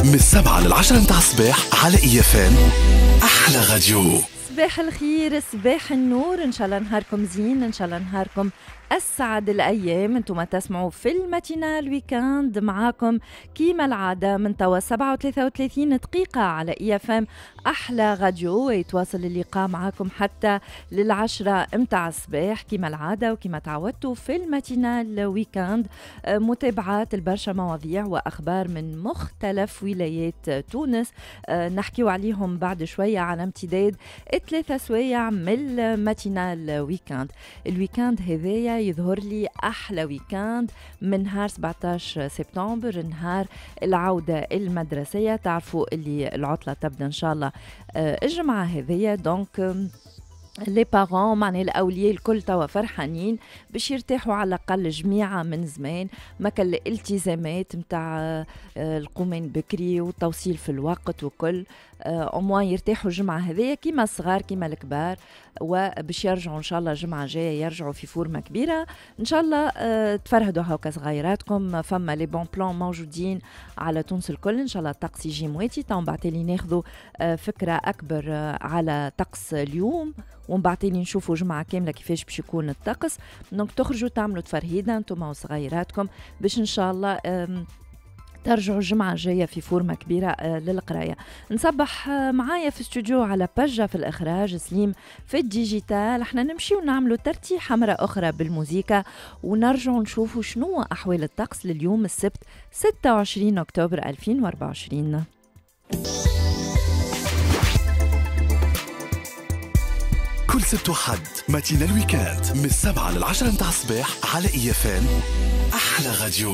من 7 لل10 متاع الصباح على IFM احلى راديو. صباح الخير، صباح النور، ان شاء الله نهاركم زين، ان شاء الله نهاركم اسعد الايام. انتم تسمعوا في ال matinale week-end معاكم كيما العادة من توا 7:33 دقيقة على IFM احلى راديو، ويتواصل اللقاء معاكم حتى لل10 متاع الصباح كيما العادة وكيما تعودتوا في ال matinale week-end. متابعات البرشا مواضيع واخبار من مختلف ولايات تونس نحكيو عليهم بعد شوية على امتداد 3 سوايع من ال matinale week-end. ال week-end هذايا يظهر لي أحلى week-end من نهار 17 سبتمبر، نهار العودة المدرسية. تعرفوا اللي العطلة تبدأ إن شاء الله الجمعة هذية، donc les parents معناها الاولياء الكل توا فرحانين باش يرتاحوا على الاقل جميعه من زمان، ما كان الالتزامات نتاع القومان بكري والتوصيل في الوقت وكل، au moins يرتاحوا الجمعة هذيا كيما الصغار كيما الكبار، وباش يرجعوا ان شاء الله الجمعة الجاية يرجعوا في forme كبيرة ان شاء الله. تفرهدوا هاكا صغيراتكم، فما les bons plans موجودين على تونس الكل. ان شاء الله الطقس يجي مواتي تو بعد لي ناخذوا فكرة اكبر على طقس اليوم، ومن بعد تالي نشوفوا جمعة كاملة كيفاش باش يكون الطقس. donc تخرجوا تعملوا تفرهيدة انتم وصغيراتكم باش ان شاء الله ترجعوا الجمعة الجاية في forme كبيرة للقراية. نصبح معايا في استوديو على بجة في الإخراج، سليم في ال digital. احنا نمشيو نعملوا ترتيحة مرة أخرى بالموزيكا ونرجعوا نشوفوا شنو أحوال الطقس لليوم السبت 26 أكتوبر 2024. كل سبت وحد matinale week-end من 7 لل10 متاع الصباح على IFM احلى راديو.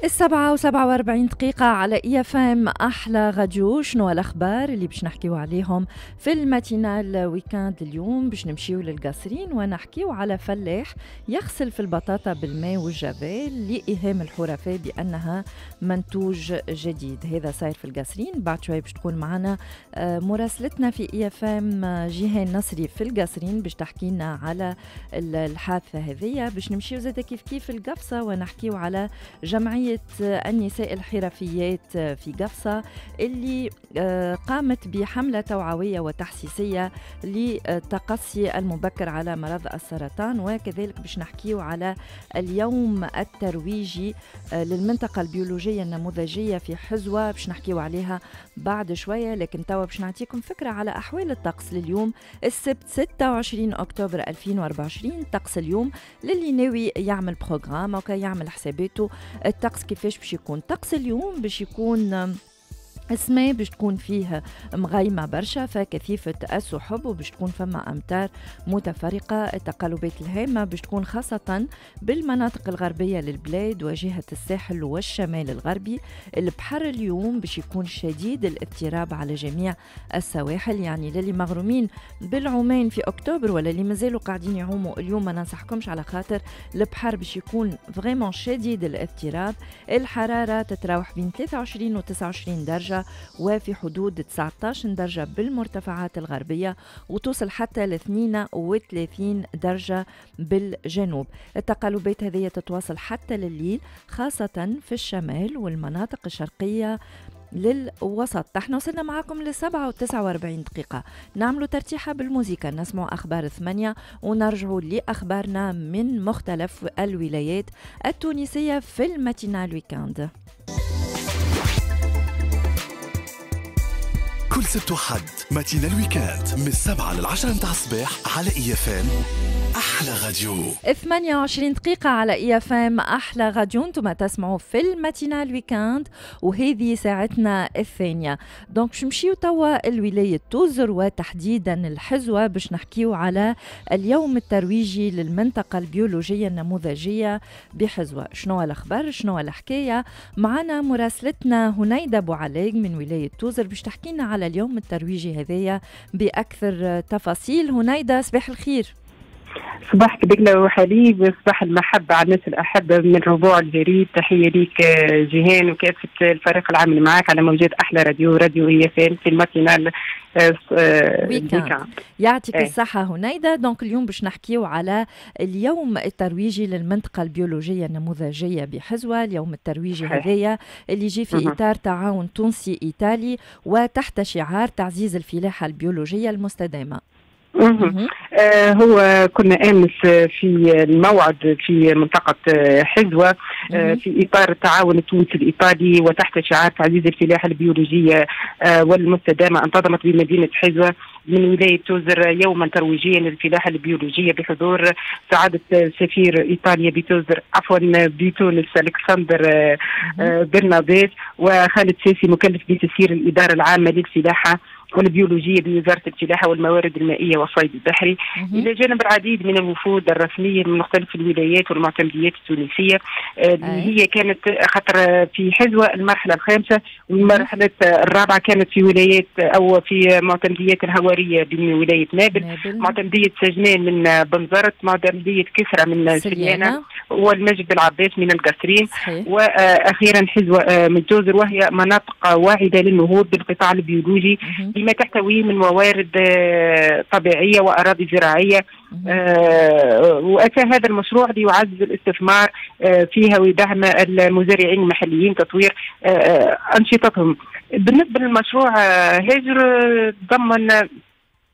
7:47 دقيقة على IFM أحلى راديو. شنو الأخبار اللي باش نحكيو عليهم في ال matinale week-end اليوم؟ باش نمشيو للقصرين ونحكيو على فلاح يغسل في البطاطا بالماء والجافيل لإيهام الحرفاء بأنها منتوج جديد. هذا صاير في القصرين. بعد شوي باش تكون معنا مراسلتنا في IFM جيهان نصري في القصرين باش تحكي لنا على الحادثة هذية. باش نمشيو زادة كيف كيف القفصة ونحكيو على جمعية النساء الحرفيات في قفصة اللي قامت بحملة توعوية وتحسيسية للتقصي المبكر على مرض السرطان، وكذلك باش نحكيو على اليوم الترويجي للمنطقة البيولوجية النموذجية في حزوة باش نحكيو عليها بعد شوية. لكن توا باش نعطيكم فكرة على أحوال الطقس لليوم السبت 26 أكتوبر 2024. طقس اليوم للي ناوي يعمل programme أو يعمل حساباته، الطقس كيفاش باش يكون؟ طقس اليوم باش يكون السماء باش تكون فيه مغيمة برشا فكثيفة السحب، وباش تكون فما أمطار متفرقة. التقلبات الهامة باش تكون خاصة بالمناطق الغربية للبلاد وجهة الساحل والشمال الغربي. البحر اليوم باش يكون شديد الاضطراب على جميع السواحل، يعني للي مغرومين بالعومان في أكتوبر ولا اللي مازالوا قاعدين يعوموا اليوم ما ننصحكمش، على خاطر البحر باش يكون vraiment شديد الاضطراب. الحرارة تتراوح بين 23 و 29 درجة وفي حدود 19 درجة بالمرتفعات الغربية، وتوصل حتى ل 32 درجة بالجنوب. التقلبات هذه تتواصل حتى لليل خاصة في الشمال والمناطق الشرقية للوسط. احنا وصلنا معاكم ل 7:49 دقيقة. نعملوا ترتيحة بالموزيكا، نسمع أخبار 8 ونرجعوا لأخبارنا من مختلف الولايات التونسية في ال matinale week-end. كل سبت وحد matinale week-end من 7 لل10 متاع الصباح على IFM احلى راديو. 28 دقيقة على IFM احلى راديو. انتم تسمعوا في ال matinale week-end وهذه ساعتنا الثانية. donc باش نمشيو توا الولاية توزر وتحديدا الحزوة باش نحكيو على اليوم الترويجي للمنطقة البيولوجية النموذجية بحزوة. شنو الأخبار، شنو الحكاية؟ معنا مراسلتنا هنيدة بوعلاق من ولاية توزر باش تحكي لنا على اليوم الترويجي هذايا بأكثر تفاصيل. هنيدة صباح الخير. صباحك دقلة وحليب، صباح المحبة على الناس الأحبة من ربوع الجريد. تحية ليك جيهان وكافة الفريق العامل معاك على موجات أحلى راديو، راديو IFM في ال matinale week-end. يعطيك الصحة هنيدة. donc اليوم باش نحكيو على اليوم الترويجي للمنطقة البيولوجية النموذجية بحزوة، اليوم الترويجي هذايا اللي يجي في إطار تعاون تونسي إيطالي وتحت شعار تعزيز الفلاحة البيولوجية المستدامة. هو كنا امس في الموعد في منطقة حزوه في اطار التعاون التونسي الايطالي وتحت شعار تعزيز الفلاحة البيولوجية والمستدامه. انتظمت بمدينة حزوه من ولاية توزر يوما ترويجيا للفلاحه البيولوجية بحضور سعادة سفير ايطاليا بتوزر، عفوا بتونس، الكسندر برنابيس، وخالد ساسي مكلف بتسيير الادارة العامة للفلاحه والبيولوجية بوزارة الفلاحة والموارد المائية والصيد البحري، إلى جانب العديد من الوفود الرسمية من مختلف الولايات والمعتمديات التونسية اللي هي كانت خاطر في حزوة المرحلة الخامسة، والمرحلة الرابعة كانت في ولايات أو في معتمديات الهوارية من ولاية نابل، معتمدية سجنان من بنزرت، معتمدية كسرى من سليانة، والمجد العباس من القصرين، وأخيرا حزوة من توزر، وهي مناطق واعدة للنهوض بالقطاع البيولوجي لما تحتويه من موارد طبيعية وأراضي زراعية. وأتى هذا المشروع ليعزز الاستثمار فيها ويدعم المزارعين المحليين تطوير أنشطتهم. بالنسبة للمشروع هاجر تضمن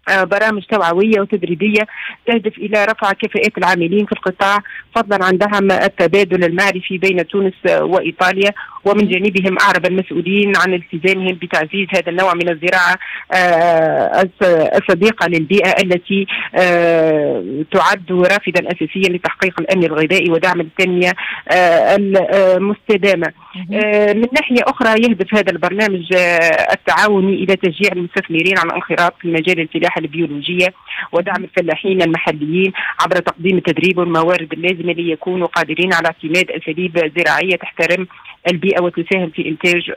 برامج توعوية وتدريبية تهدف إلى رفع كفاءات العاملين في القطاع، فضلا عن دعم التبادل المعرفي بين تونس وإيطاليا. ومن جانبهم أعرب المسؤولين عن التزامهم بتعزيز هذا النوع من الزراعة الصديقة للبيئة التي تعد رافدا أساسيا لتحقيق الأمن الغذائي ودعم التنمية المستدامة. من ناحية أخرى يهدف هذا البرنامج التعاوني إلى تشجيع المستثمرين على الانخراط في مجال الفلاحة البيولوجية ودعم الفلاحين المحليين عبر تقديم التدريب والموارد اللازمة ليكونوا قادرين على اعتماد أساليب زراعية تحترم البيئة وتساهم في إنتاج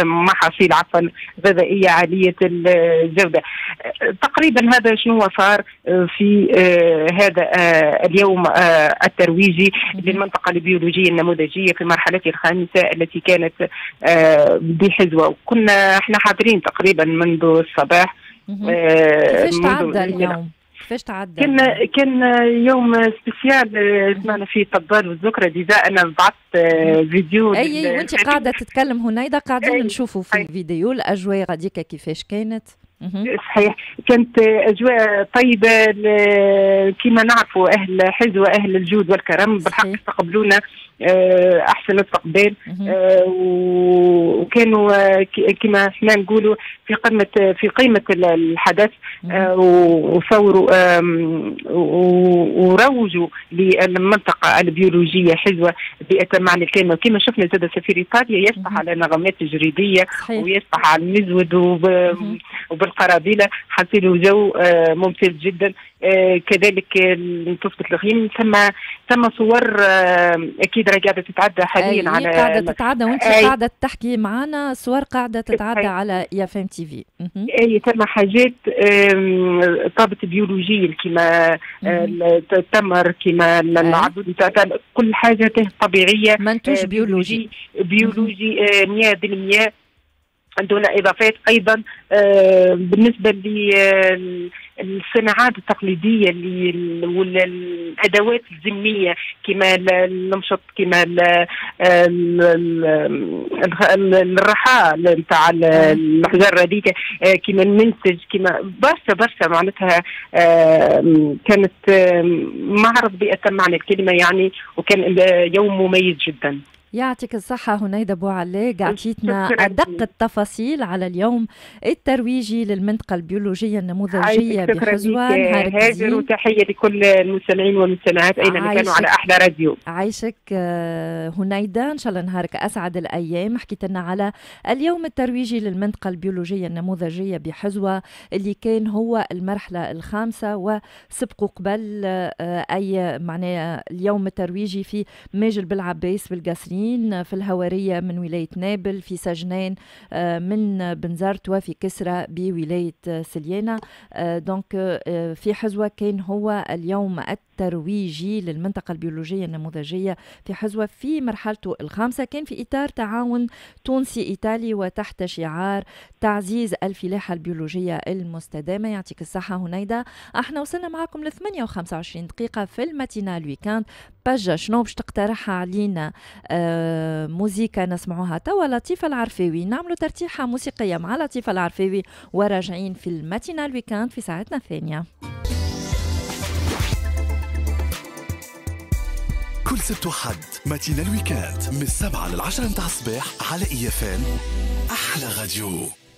محاصيل عفوا غذائية عالية الجودة. تقريبا هذا شنو صار في هذا اليوم الترويجي للمنطقة البيولوجية النموذجية في مرحلته الخامسة التي كانت بحزوة، وكنا احنا حاضرين تقريبا منذ الصباح. كيفاش تعدى اليوم؟ كيفاش تعدى؟ كان يوم spécial، سمعنا فيه الطبال والذكرى. déjà انا بعثت فيديو. اي وانت قاعدة تتكلم هنيدا قاعدين نشوفوا في الفيديو الاجواء غاديكا كيفاش كانت. صحيح، كانت اجواء طيبة كما نعرفوا اهل حزوه اهل الجود والكرم، بالحق استقبلونا احسن استقبال، وكانوا كما احنا نقولوا في قمة الحدث، وصوروا وروجوا للمنطقة البيولوجية حزوه بأتم معنى الكلمة. كما شفنا زاد سفير ايطاليا يشطح على نغمات تجريديه ويشطح على المزود وبالقرابيله، حصيلوا جو ممتاز جدا. كذلك تصبت الغيم، ثم صور اكيد راهي قاعدة تتعدى حاليا على قاعدة تتعدى وانت قاعدة تحكي معنا، صور قاعدة تتعدى على IFM TV. اي ثم حاجات طابت بيولوجيا كما التمر كما العضد، كل حاجة طبيعية، منتوج بيولوجي بيولوجي 100% دون اضافات. ايضا بالنسبة للصناعات التقليدية والادوات الذميه كما المشط كما الرحى نتاع الحجر هذيك كما المنسج كما برشا برشا، معناتها كانت معرض بأتم معنى الكلمة يعني، وكان يوم مميز جدا. يعطيك الصحة هنيدة بوعلاق، عطيتنا أدق التفاصيل على اليوم الترويجي للمنطقة البيولوجية النموذجية بحزوة. هاجر، وتحية لكل المستمعين والمستمعات أينما كانوا على أحلى راديو. عايشك هنيدة، إن شاء الله نهارك أسعد الأيام. حكيت لنا على اليوم الترويجي للمنطقة البيولوجية النموذجية بحزوة اللي كان هو المرحلة الخامسة، وسبقوا قبل أي معناه اليوم الترويجي في ماجل بالعباس بالقصرين. القصرين، في الهوارية من ولاية نابل، في سجنان من بنزرت، وفي كسرى بولاية سليانة. donc في حزوة كان هو اليوم الترويجي للمنطقة البيولوجية النموذجية في حزوة في مرحلته الخامسة، كان في إطار تعاون تونسي إيطالي وتحت شعار تعزيز الفلاحة البيولوجية المستدامة. يعطيك الصحة هنيدة. احنا وصلنا معكم ل 8:25 دقيقة في ال matinale week-end. بجة شنو باش تقترحها علينا موزيكا نسمعوها توا؟ لطيفة العرفاوي، نعملوا ترتيحة موسيقية مع لطيفة العرفاوي وراجعين في ال matinale week-end في ساعتنا الثانية. كل سبت وحد matinale week-end من 7 ل 10 متاع الصباح على IFM أحلى راديو.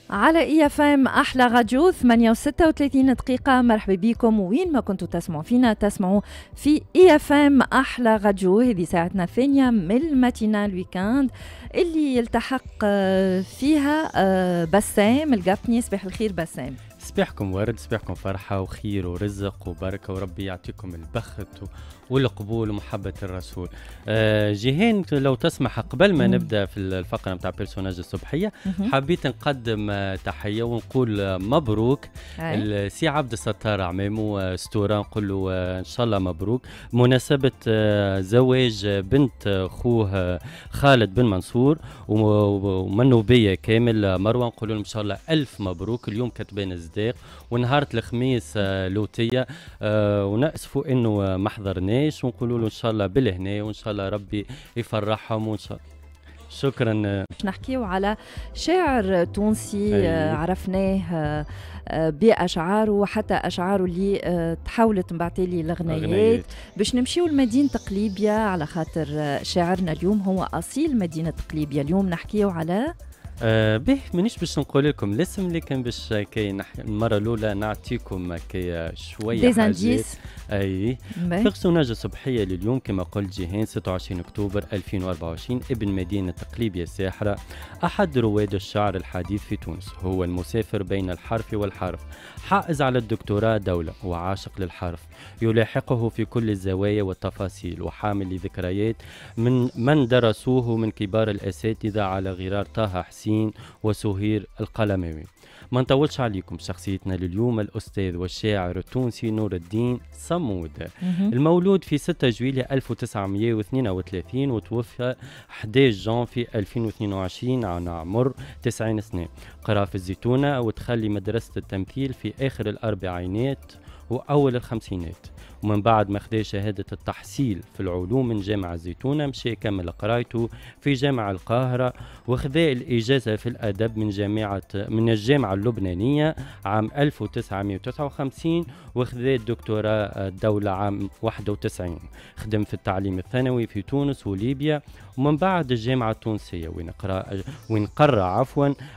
على IFM احلى راديو، 8:36 دقيقة. مرحبا بكم وين ما كنتوا تسمعوا فينا، تسمعوا في IFM احلى راديو. هذه ساعتنا الثانية من ال matinale week-end اللي يلتحق فيها بسام القفني. صباح الخير بسام. صباحكم ورد، صباحكم فرحة وخير ورزق وبركة، وربي يعطيكم البخت والقبول ومحبة الرسول. جيهان لو تسمح قبل ما نبدأ في الفقرة متاع personnage الصبحية، حبيت نقدم تحية ونقول مبروك السي عبد الستار عمامو ستورا، نقول له إن شاء الله مبروك مناسبة زواج بنت خوه خالد بن منصور ومنوبية كامل مروة، نقول لهم إن شاء الله ألف مبروك. اليوم كتبان الصداق ونهار الخميس لوتية، ونأسفوا إنه ما حضرناش، ونقولوا له إن شاء الله بالهنا وإن شاء الله ربي يفرحهم وإن شاء الله. شكرا. نحكيو على شاعر تونسي. أيوه. عرفناه بأشعاره وحتى أشعاره اللي تحولت من بعد لغنيات. باش نمشيو لمدينة قليبيا على خاطر شاعرنا اليوم هو أصيل مدينة قليبيا. اليوم نحكيو على به مانيش باش نقول لكم الاسم، لكن باش كي المرة الاولى نعطيكم كي شوية حاجات. اي personnage الصبحية لليوم كما قلت جيهان، 26 اكتوبر 2024، ابن مدينة قليبيا الساحرة، احد رواد الشعر الحديث في تونس، هو المسافر بين الحرف والحرف، حائز على الدكتوراه دولة وعاشق للحرف، يلاحقه في كل الزوايا والتفاصيل، وحامل لذكريات من درسوه من كبار الاساتذة على غرار طه حسين وسهير القلماوي. ما نطولش عليكم، شخصيتنا لليوم الأستاذ والشاعر التونسي نور الدين صمود، المولود في 6 جويلية 1932 وتوفى 11 جانفي 2022 عن عمر 90 سنة. قرأ في الزيتونة وتخلي مدرسة التمثيل في آخر الأربعينات وأول الخمسينات، ومن بعد ما خدا شهادة التحصيل في العلوم من جامعة الزيتونة مشى كمل قرايته في جامعة القاهرة، وخذا الإجازة في الأدب من الجامعة اللبنانية عام 1959، وخذا الدكتوراه الدولة عام 91. خدم في التعليم الثانوي في تونس وليبيا، ومن بعد الجامعة التونسية وين قرأ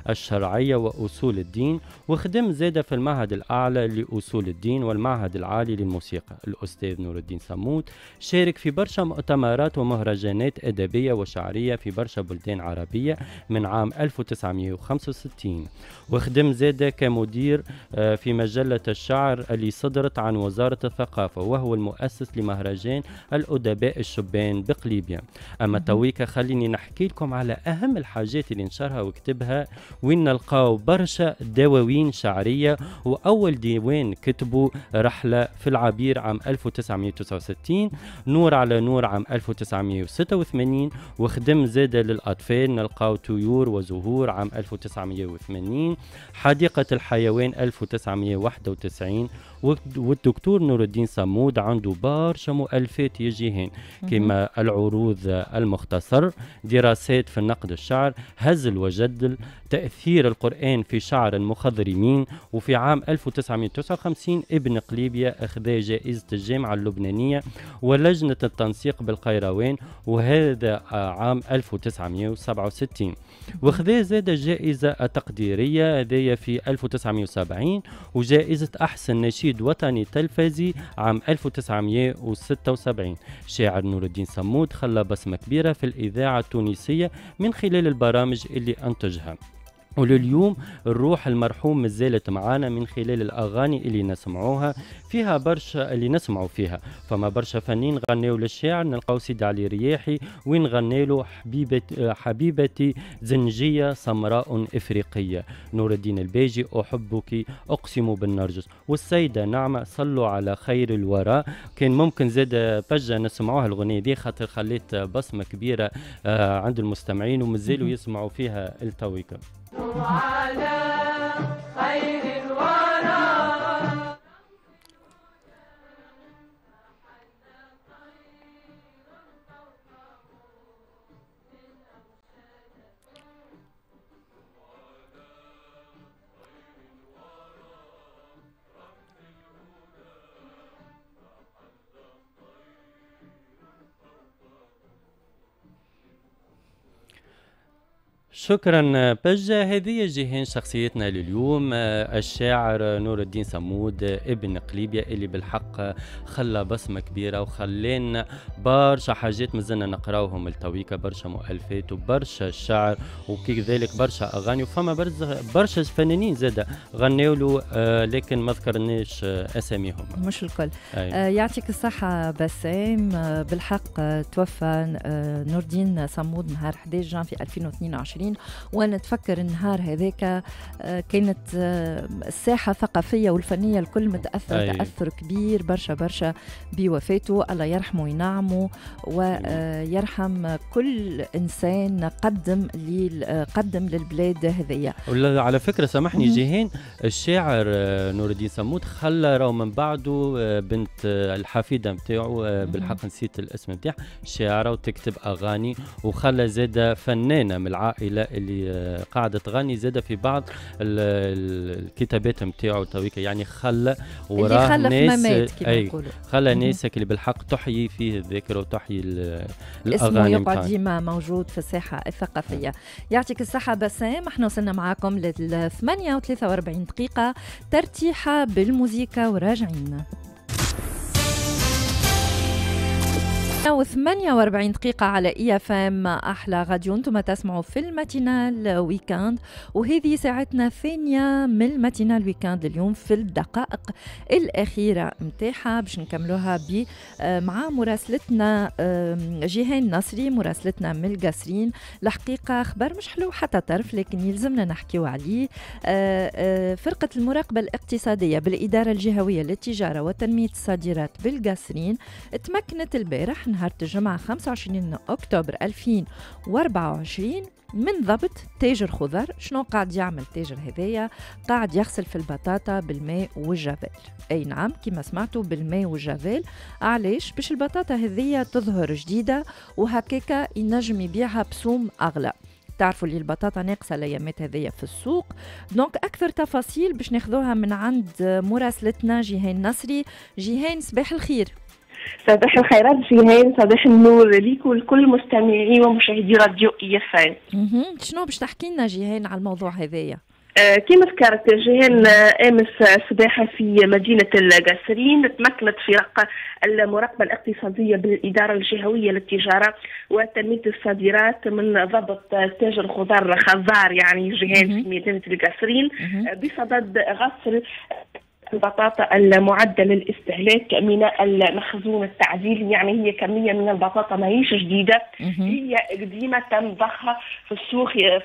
الشرعية وأصول الدين، وخدم زادة في المعهد الأعلى لأصول الدين والمعهد العالي للموسيقى. الأستاذ نور الدين صمود شارك في برشا مؤتمرات ومهرجانات أدبية وشعرية في برشا بلدان عربية من عام 1965، وخدم زادة كمدير في مجلة الشعر اللي صدرت عن وزارة الثقافة، وهو المؤسس لمهرجان الأدباء الشبان بقليبيا. أما تويكا خليني نحكي لكم على أهم الحاجات اللي نشرها وكتبها، وين نلقاو برشا دواوين شعرية. وأول ديوان كتبه رحلة في العبير عام 1969، نور على نور عام 1986، وخدم زادة للأطفال نلقاو طيور وزهور عام 1980، حديقة الحيوان 1991. والدكتور نور الدين صمود عنده برشا مؤلفات يجيهن، كما العروض المختصر، دراسات في النقد الشعر، هزل وجدل، تأثير القرآن في شعر المخضرمين. وفي عام 1959 ابن قليبيا أخذ جائزة الجامعة اللبنانية ولجنة التنسيق بالقيروان، وهذا عام 1967. وخذا زاد جائزة التقديرية هذه في 1970، وجائزة أحسن نشيد وطني تلفزي عام 1976. شاعر نور الدين صمود خلى بصمة كبيرة في الإذاعة التونسية من خلال البرامج اللي أنتجها، ولليوم الروح المرحوم مازالت معانا من خلال الأغاني اللي نسمعوها فيها برشا، اللي نسمعوا فيها. فما برشا فنين غنيوا للشاعر، نلقاو سيدي علي رياحي وين غني له حبيبتي زنجية سمراء إفريقية، نور الدين الباجي أحبك أقسم بالنرجس، والسيدة نعمة صلوا على خير الوراء. كان ممكن زاد بجة نسمعوها الغنية دي خاطر خليت بصمة كبيرة عند المستمعين ومازالوا يسمعوا فيها التويكا. على خير الورى. شكرا بجة. هذه جيهان شخصيتنا لليوم، الشاعر نور الدين صمود ابن قليبيا اللي بالحق خلى بصمة كبيرة وخلينا برشا حاجات مازلنا نقراوهم التويكا، برشا مؤلفات وبرشا شعر وكذلك برشا أغاني، وفما برشا فنانين زادة غنوا له لكن ما ذكرناش أساميهم مش الكل. يعطيك الصحة بسام. بالحق توفى نور الدين صمود نهار 11 جانفي 2022، وانا اتفكر النهار هذاك كانت الساحة الثقافية والفنية الكل متاثرة تاثر كبير برشا برشا بوفاته. الله يرحمه وينعمه ويرحم كل انسان قدم للبلاد هذيا. على فكرة سامحني جيهان، الشاعر نور الدين صمود خلى راهو من بعده بنت الحفيده نتاعو، بالحق نسيت الاسم نتاعها، شاعره وتكتب اغاني، وخلى زاده فنانة من العائلة اللي قاعدة تغني زاده في بعض الكتابات نتاعو تويكا، يعني خلى وراه ناس، خلى ناس اللي بالحق تحيي فيه الذكر وتحيي الاغاني، اسمه يقعد ديما موجود في الساحة الثقافية. يعطيك الصحة بسام. احنا وصلنا معاكم لل 8:43 دقيقة، ترتيحه بالموسيقى وراجعين. 48 دقيقة على IFM أحلى راديو، انتم تسمعوا في ال matinale week-end، وهذه ساعتنا الثانية من ال matinale week-end اليوم في الدقائق الأخيرة متاعها باش نكملوها مع مراسلتنا جيهان نصري، مراسلتنا من القصرين. الحقيقة خبر مش حلو حتى طرف لكن يلزمنا نحكيو عليه. فرقة المراقبة الاقتصادية بالإدارة الجهوية للتجارة وتنمية الصادرات بالقصرين تمكنت البارح نهار الجمعة 25 أكتوبر 2024 من ضبط تاجر خضر. شنو قاعد يعمل تاجر هذايا؟ قاعد يغسل في البطاطا بالماء والجافيل. أي نعم كما سمعتوا، بالماء والجافيل. علاش؟ باش البطاطا هذيا تظهر جديدة وهكاكا ينجم يبيعها بسوم أغلى. تعرفوا اللي البطاطا ناقصة الأيامات هذيا في السوق. donc أكثر تفاصيل باش ناخذوها من عند مراسلتنا جيهان نصري. جيهان صباح الخير. صباح الخيرات جيهان، صباح النور ليك ولكل مستمعي ومشاهدي راديو IFM. شنو باش تحكي لنا جيهان على الموضوع هذايا؟ كما ذكرت جيهان، امس صباحا في مدينة القصرين تمكنت فرق المراقبة الاقتصادية بالادارة الجهوية للتجارة وتنميه الصادرات من ضبط تاجر خضار خضار يعني جيهان في مدينة القصرين بصدد غسل البطاطا المعدة للاستهلاك من المخزون التعديلي. يعني هي كمية من البطاطا ماهيش جديدة، هي قديمة تم ضخها في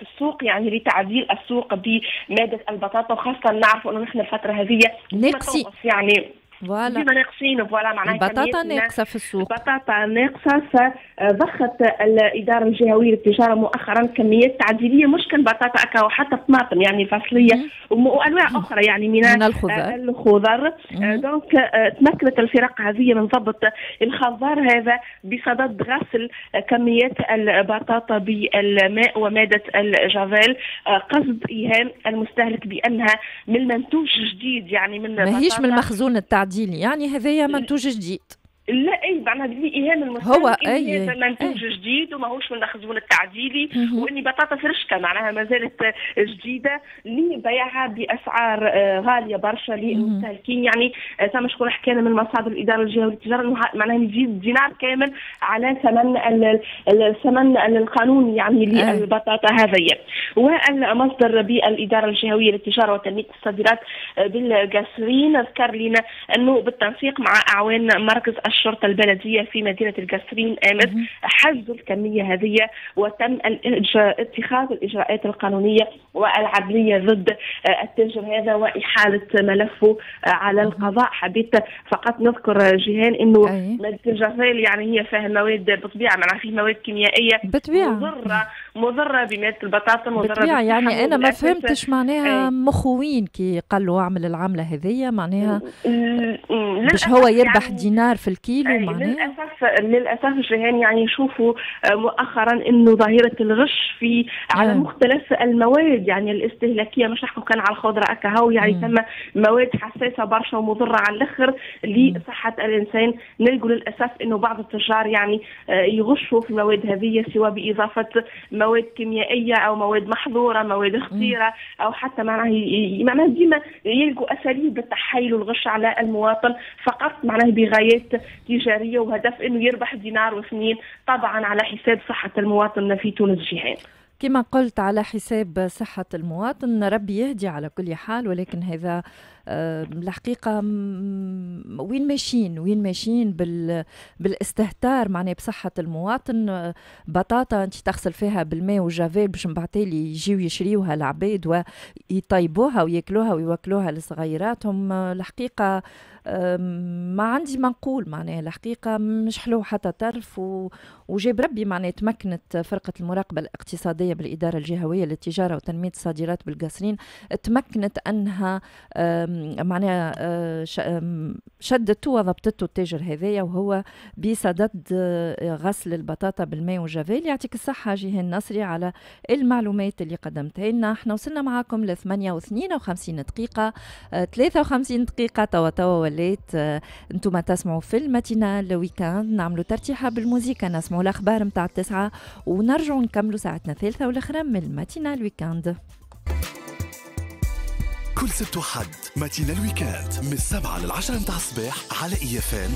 السوق يعني لتعديل السوق بمادة البطاطا، وخاصة نعرف انه نحن الفترة هذه ناقصين يعني voilà ديما ناقصين، voilà معناها البطاطا ناقصه في السوق، البطاطا ناقصه. فضخت الادارة الجهوية للتجارة مؤخرا كميات تعديليه، مش كان بطاطا اكا وحتى طماطم يعني فصليه وانواع اخرى يعني من الخضر. donc تمكنت الفرق هذه من ضبط الخضار هذا بصدد غسل كميات البطاطا بالماء ومادة الجافيل، قصد ايهام المستهلك بانها من منتوج جديد، يعني من ماهيش من المخزون التعديلي، يعني هذايا منتوج جديد. لا اي معناها لايهام المستهلك هو اي هذا منتوج جديد وماهوش من المخزون التعديلي، واني بطاطا فرشكه معناها ما زالت جديدة لبيعها باسعار غالية برشا للمستهلكين. يعني ثم شكون حكينا من مصادر الادارة الجهوية للتجارة انه معناها يزيد دينار كامل على ثمن الثمن القانوني يعني للبطاطا هذيا. والمصدر بالادارة الجهوية للتجارة وتنميه الصادرات بالقصرين ذكر لنا انه بالتنسيق مع اعوان مركز الشرطة البلدية في مدينة القصرين أمس حجزوا الكمية هذه، وتم اتخاذ الإجراءات القانونية والعدلية ضد التاجر هذا وإحالة ملفه على القضاء. حبيت فقط نذكر جيهان أنه مادة الجافيل يعني هي فيها مواد بالطبيعة، معناها فيه مواد كيميائية مضرة بمادة البطاطا، مضرة بالطبيعة. يعني أنا ما فهمتش معناها مخوين كي قالوا اعمل العملة هذية، معناها باش هو يربح يعني دينار في الكيلو. معناها للاسف جيهان يعني نشوفوا مؤخرا انه ظاهره الغش في على مختلف المواد يعني الاستهلاكية، مش نحكوا كان على الخضرة اكاهو، يعني ثم مواد حساسة برشا ومضره على الاخر لصحة الانسان. نلقوا للاسف انه بعض التجار يعني يغشوا في المواد هذه، سواء باضافة مواد كيميائية او مواد محظورة، مواد خطيرة، او حتى معناها ديما يلقوا اساليب التحايل والغش على المواطن فقط معناها بغايات تجارية وهدف انه يربح دينار واثنين، طبعا على حساب صحة المواطن في تونس جيهان. كما قلت على حساب صحة المواطن، ربي يهدي على كل حال. ولكن هذا الحقيقة وين ماشيين بالاستهتار معناها بصحة المواطن. بطاطا انت تغسل فيها بالماء وجافيل باش من بعد تالي يجيو يشريوها العباد ويطيبوها وياكلوها ويوكلوها لصغيراتهم. الحقيقة ما عندي ما نقول، معناها الحقيقة مش حلو حتى طرف. وجاب ربي معناها تمكنت فرقة المراقبة الاقتصادية بالإدارة الجهوية للتجارة وتنمية الصادرات بالقصرين، تمكنت أنها معناها شدته وضبطته التاجر هذايا وهو بصدد غسل البطاطا بالماء وجافيل. يعطيك الصحة جيهان نصري على المعلومات اللي قدمتها لنا. احنا وصلنا معاكم ل 8:52 دقيقة، 53 دقيقة توا وليت انتم تسمعوا في ال matinale week-end. نعملوا ترتيحة بالموسيقى، نسمعوا الأخبار متاع 9 ونرجعوا نكملوا ساعتنا الثالثة والأخرى من ال matinale week-end. كل سبت وحد matinale week-end من 7 ل10 متاع الصباح على IFM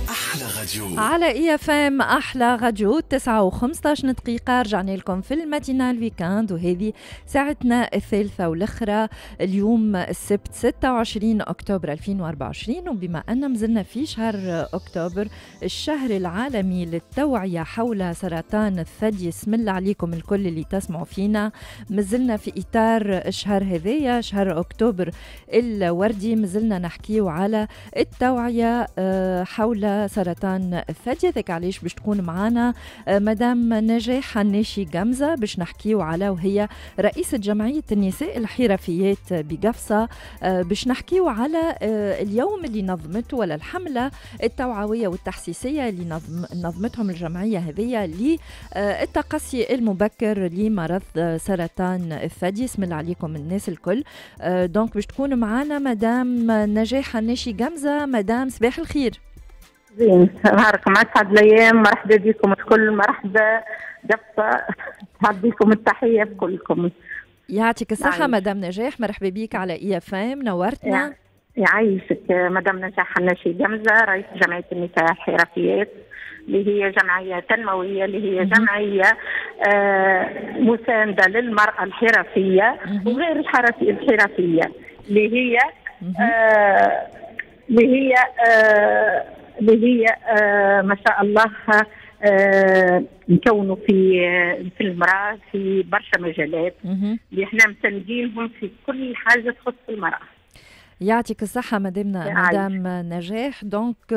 أحلى راديو. على IFM أحلى راديو 9:15 دقيقة. رجعنا لكم في ال matinale week-end وهذه ساعتنا الثالثة والأخرى اليوم السبت 26 أكتوبر 2024. وبما أن مازلنا في شهر أكتوبر، الشهر العالمي للتوعية حول سرطان الثدي، اسم الله عليكم الكل اللي تسمعوا فينا، مازلنا في إطار الشهر هذايا شهر أكتوبر الوردي، مازلنا نحكيو على التوعية حول سرطان الثدي. هذاك علاش باش تكون معانا مدام نجاح حناشي قمزة باش نحكيو على، وهي رئيسة جمعية النساء الحرفيات بقفصة، باش نحكيو على اليوم اللي نظمته ولا الحملة التوعوية والتحسيسية اللي نظمتهم الجمعية هذه للتقصي المبكر لمرض سرطان الثدي. اسم الله عليكم الناس الكل. donc باش تكون معانا مدام نجاح حناشي قمزة. مدام صباح الخير. زين نهاركم اسعد الايام، مرحبا بكم الكل، مرحبا قفصه، بكم التحية بكلكم. يعطيك الصحة مدام نجاح، مرحبا بك على IFM، نورتنا. يعيشك مدام نجاح حناشي قمزه، رئيس جمعية النساء الحرفيات اللي هي جمعية تنموية، اللي هي جمعية مساندة للمراة الحرفية وغير الحرفية، اللي هي اللي هي ما شاء الله نكونوا في المرأة في برشا مجالات اللي احنا مساندينهم في كل حاجة تخص المرأة. يعطيك الصحة مدام نجاح. donc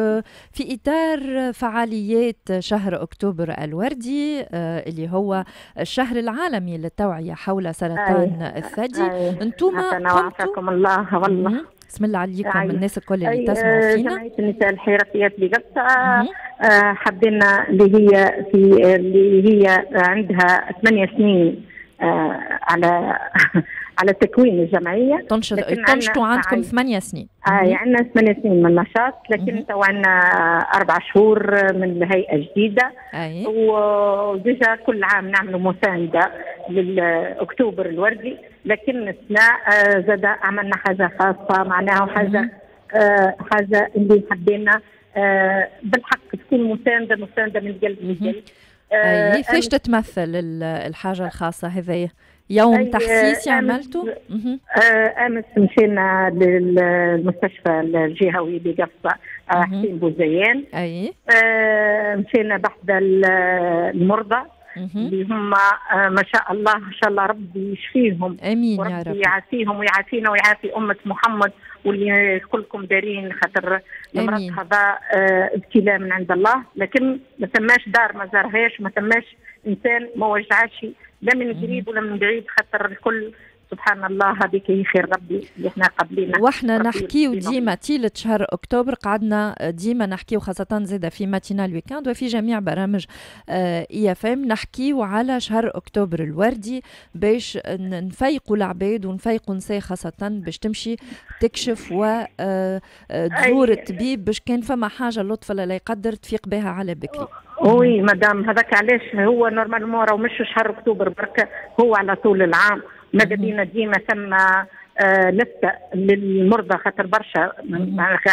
في إطار فعاليات شهر أكتوبر الوردي اللي هو الشهر العالمي للتوعية حول سرطان الثدي، انتم قمتوا الله والله بسم الله عليكم الناس الكل اللي تسمعوا فينا. جمعية النساء الحرفيات بقفصة حبينا اللي هي عندها 8 سنين على على تكوين الجمعية. تنشطوا عندكم 8 سنين. عندنا 8 سنين من النشاط، لكن تو عندنا 4 شهور من هيئة جديدة. و déjà كل عام نعملوا مساندة للاكتوبر الوردي، لكن السنة زاد عملنا حاجة خاصة، معناها حاجة حاجة اللي حبينا بالحق تكون مساندة من قلب للقلب. كيفاش تتمثل الحاجة الخاصة هذيا؟ يوم تحسيسي عملته؟ امس مشينا للمستشفى الجهوي بقفصه حسين بوزيان. مشينا بحذا المرضى اللي هم ما شاء الله، ان شاء الله ربي يشفيهم، امين يا رب، يعافيهم ويعافينا ويعافي امه محمد واللي كلكم دارين، خاطر المرض هذا ابتلاء من عند الله، لكن ما ثماش دار ما زارهاش، ما ثماش انسان ما وجعش لا من قريب ولا من بعيد، خاطر الكل سبحان الله هذيك هي خير ربي اللي احنا قبلينا. واحنا نحكيو ديما طيلة شهر اكتوبر، قعدنا ديما نحكيو خاصة زادة في matinale week-end وفي جميع برامج IFM، نحكيو على شهر اكتوبر الوردي باش نفيقوا العباد ونفيقوا نساء خاصة باش تمشي تكشف وتزور الطبيب باش كان فما حاجة لطف لا يقدر تفيق بها على بكري. oui madame، هذاك علاش هو normalement راهو مش شهر اكتوبر برك، هو على طول العام. ماذا بينا ديما ثم لفتة للمرضى، خاطر برشا